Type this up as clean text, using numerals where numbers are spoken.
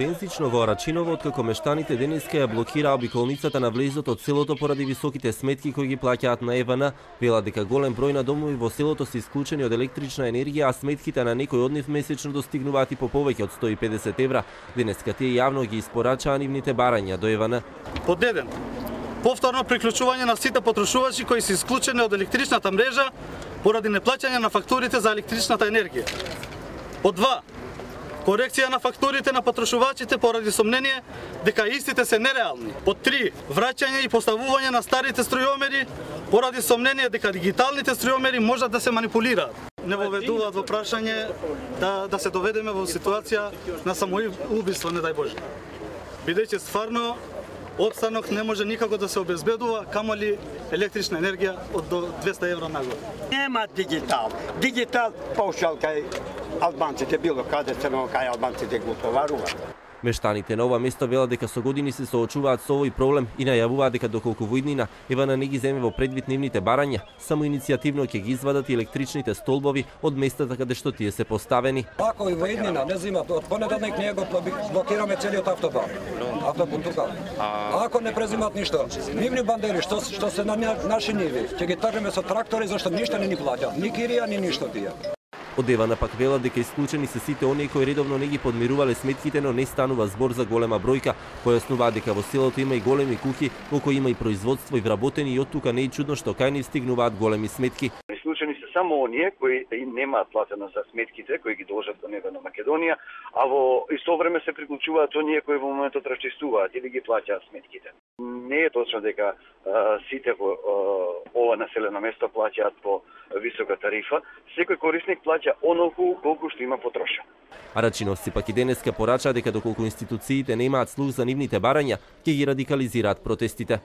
интензично во Арачиново, откако мештаните денеска ја блокираа обиколницата на влезот од селото поради високите сметки кои ги плаќаат на ЕВН. Велат дека голем број на домови во селото се исклучени од електрична енергија, а сметките на некои од нив месечно достигнуваат и по повеќе од 150 евра. Денеска тие јавно ги испорачаа нивните барања до ЕВН. Под 1. Повторно приклучување на сите потрошувачи кои се исклучени од електричната мрежа поради неплаќање на фактурите за електричната енергија. Под 2. Корекција на фактурите на потрошувачите поради сомнение дека истите се нереални. Под 3. Враќање и поставување на старите струјомери поради сомнение дека дигиталните струјомери можат да се манипулираат. Не воведуваат во прашање да се доведеме во ситуација на самоубиство, не дај Боже. Бидејќи стварно опстанок не може никако да се обезбедува, камоли електрична енергија од до 200 евра нагоре. Нема дигитал. Дигитал поушал кај албанците, било каде се, но кај албанците го товаруваат. Мештаните на ова место велат дека со години се соочуваат со овој проблем и најавуваат дека доколку во иднина ЕВН не ги земе во предвид нивните барања, само иницијативно ќе ги извадат и електричните столбови од местата каде што тие се поставени. Ако и во иднина не земат, од понеделник ние го блокираме целиот автобан. Автопут тука. Ако не презимат ништо, нивни бандери што се на наши ниви, ќе ги тргнеме со трактори зашто ништо не ни плаќаат, ни кирија ни ништо тие. Од ЕВН пак велат дека исклучени се сите оние кои редовно не ги подмирувале сметките, но не станува збор за голема бројка. Појаснуваат дека во селото има и големи куќи во кои има и производство и вработени, и оттука не е чудно што кај нив стигнуваат големи сметки. Исклучени се само оние кои немаат платено за сметките кои ги должат до ЕВН Македонија, а во исто време се приклучуваат оние кои во моментот расчистуваат или ги плаќаат сметките. Не е точно дека сите во ова населено место плаќаат по висока тарифа. Секој корисник плаќа онолку колку што има потрошен. Арачиновци пак и денеска порачаа дека доколку институциите немаат слух за нивните барања, ќе ги радикализираат протестите.